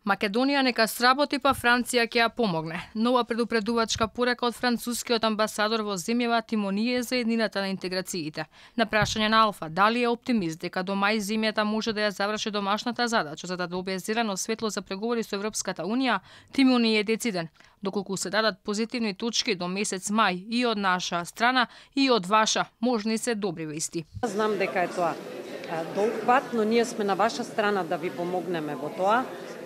Македонија нека сработи, па Франција ќе ја помогне. Нова предупредувачка порека од францускиот амбасадор во земјава тимоние за еднината на интеграциите. На прашање на Алфа дали е оптимист дека до мај земјата може да ја заврши домашната задача за да добие зелено светло за преговори со Европската унија, Тимони е дециден. Доколку се дадат позитивни точки до месец мај и од наша страна и од ваша, можни се добри вести. Знам дека е тоа долг пат, но ние сме на ваша страна да ви помогнеме во тоа.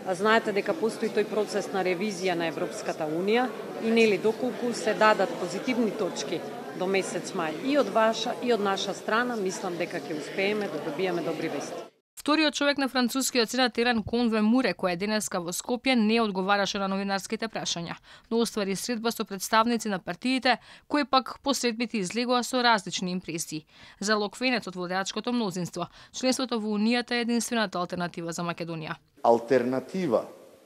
Знаете дека постои тој процес на ревизија на Европската унија и нели доколку се дадат позитивни точки до месец мај и од ваша и од наша страна, мислам дека ќе успееме да добиеме добри вести. Вториот човек на францускиот сенат Еран Конве-Муре, кој е денеска во Скопје, не одговараше на новинарските прашања, но оствари средба со представници на партиите, кои пак по средбите излегоа со различни импресии. За локвенецот во водачкото мнозинство, членството во Унијата е единствената алтернатива за Македонија. Алтернатива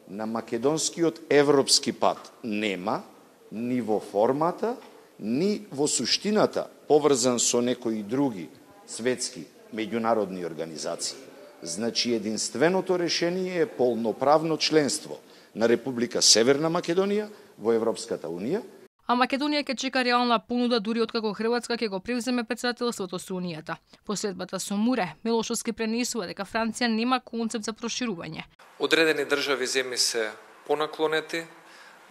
на македонскиот европски пат нема ни во формата, ни во суштината, поврзан со некои други светски меѓународни организации. Значи, единственото решение е полноправно членство на Република Северна Македонија во Европската унија. А Македонија ќе чека реална понуда дури откако Хрватска ќе го превземе председателството со Унијата. По средбата со Муре, Милошовски пренесува дека Франција нема концепт за проширување. Одредени држави земји се понаклонети,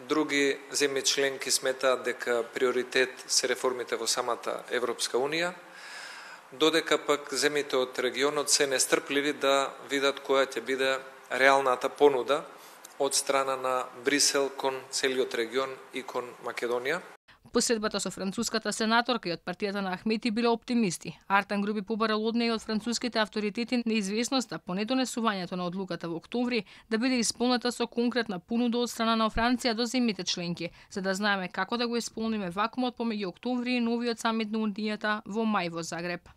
други земји членки сметаат дека приоритет се реформите во самата Европска унија, додека пак земјите од регионот се нестрпливи да видат која ќе биде реалната понуда од страна на Брисел кон целиот регион и кон Македонија. Посредбата со француската сенаторка и од партијата на Ахмети биле оптимисти. Артан Груби побарал од неја од француските авторитети неизвестноста по недонесувањето на одлуката во октомври да биде исполнета со конкретна понуда од страна на Франција до земјите членки, за да знаеме како да го исполниме вакуумот помеѓу октомври и новиот самит на Унијата во мај во Загреб.